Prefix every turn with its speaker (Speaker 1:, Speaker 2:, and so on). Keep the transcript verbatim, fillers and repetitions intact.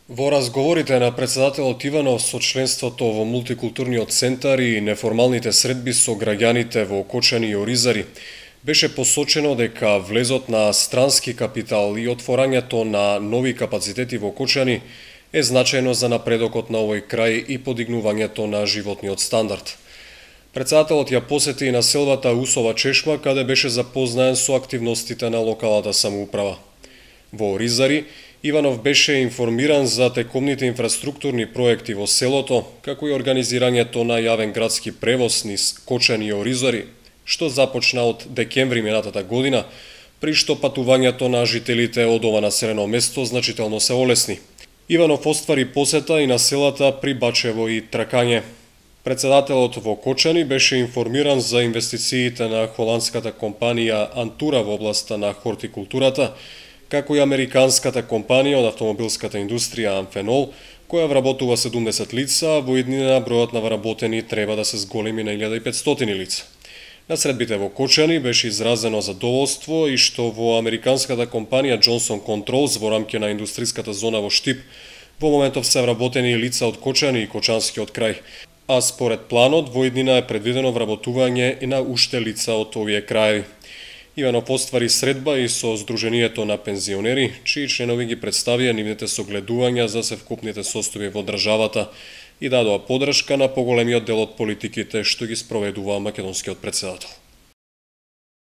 Speaker 1: Во разговорите на председателот Иванов со членството во мултикултурниот центар и неформалните средби со граѓаните во Окочани и Оризари, беше посочено дека влезот на странски капитал и отворањето на нови капацитети во Окочани е значајно за напредокот на овој крај и подигнувањето на животниот стандард. Председателот ја посети и населбата Усова чешма, каде беше запознаен со активностите на локалната самоуправа. Во Оризари, Иванов беше информиран за текомните инфраструктурни проекти во селото, како и организирањето на јавен градски превоз низ Кочани и Оризари, што започна од декември минатата година, при што патувањето на жителите од ова населено место значително се олесни. Иванов оствари посета и на селата при Бачево и Тракање. Председателот во Кочани беше информиран за инвестициите на холандската компанија Антура во областа на хортикултурата, како и американската компанија од автомобилската индустрија Амфенол, која вработува седумдесет лица, а во иднина бројот на вработени треба да се зголеми на илјада и петстотини лица. На средбите во Кочани беше изразено задоволство и што во американската компанија Johnson Controls во рамки на индустриската зона во Штип во моментов се вработени лица од Кочани и Кочанскиот крај, а според планот во иднина е предвидено вработување и на уште лица од овие краеви. Иванов оствари средба и со Сдруженијето на пензионери, чии членови ги представија нивните согледувања за севкупните состојби во државата и дадоа поддршка на поголемиот дел од политиките што ги спроведува македонскиот претседател.